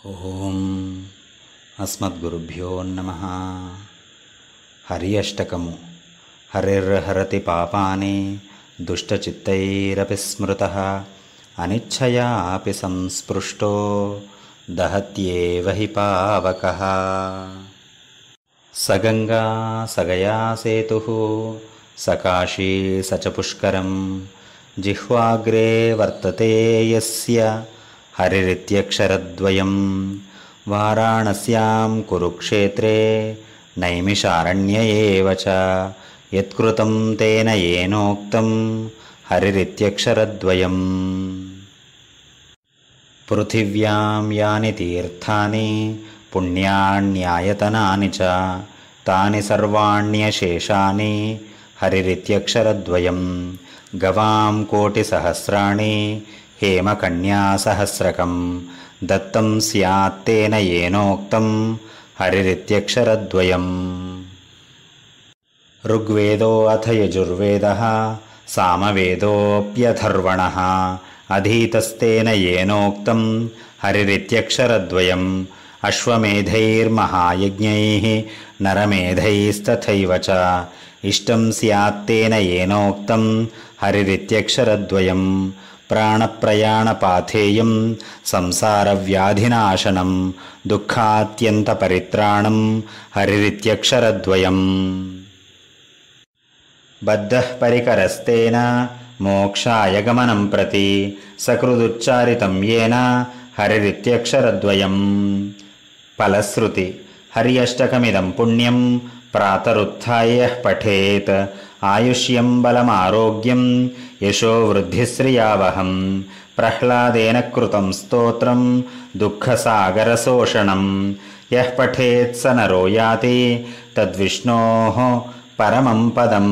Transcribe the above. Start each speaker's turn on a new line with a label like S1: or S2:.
S1: ఓం అస్మద్గురుభ్యో నమః. హరి అష్టకము. హరిర్హరతి పాపాని దుష్టచిత్తైరపి స్మృతః అనిచ్ఛయాపి సంస్పృష్టో దహత్యేవ హి పావకః. సగంగా సగయా సేతుః సకాశీ సచ పుష్కరం జిహ్వాగ్రే వర్తతే యస్య హరిరిత్యక్షరద్వయం. వారాణస్యాం కురుక్షేత్రే నైమిషారణ్య ఏవ చ యత్కృతం తేన యేనోక్తం హరిరిత్యక్షరద్వయం. పృథివ్యాం యాని తీర్థాని పుణ్యాన్యాయతనాని చ తాని సర్వాణ్యశేషాని హరిరిత్యక్షరద్వయం. గవాం కోటిసహస్రాణి హేమకన్యాసహస్రకం దత్తం స్యాత్తేన యేనోక్తం హరిరిత్యక్షరద్వయం. ఋగ్వేదో అథ యజుర్వేదః సామవేదోऽప్యథర్వణः అధీతస్తేన యేనోక్తం హరిరిత్యక్షరద్వయం. అశ్వమేధైర్మహాయజ్ఞైః నరమేధైస్తథైవ చ ఇష్టం స్యాత్తేన యేనోక్తం హరిరిత్యక్షరద్వయం. ప్రాణప్రయాణపాథేయం సంసారవ్యాధినాశనం దుఃఖాత్యంతపరిత్రాణం హరిరిత్యక్షరద్వయం. బద్ధః పరికరస్తేన మోక్షాయ గమనం ప్రతి సకృదుచ్చారితం యేన హరిరిత్యక్షరద్వయం. ఫలశ్రుతి. హరి అష్టకమిదం పుణ్యం ప్రాతరుత్థాయ పఠేత్ ఆయుష్యం బలమారోగ్యం యశో వృద్ధిశ్రియావహం. ప్రహ్లాదేన కృతం స్తోత్రం దుఃఖసాగరశోషణం. యః పఠేత్ స నరో యాతి తద్విష్ణోః పరమం పదం.